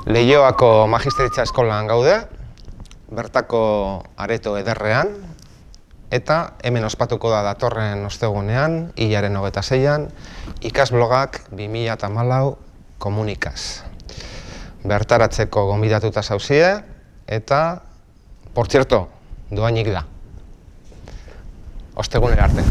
Leioako Magisteritza Eskolan gaude, bertako areto ederrean, eta hemen ospatuko da datorren ostegunean, hilaren 26an, ikasblogak 2014 komunikaz. Bertaratzeko gonbidatuta zauzie, eta, por cierto, doainik da. Ostegunera arte.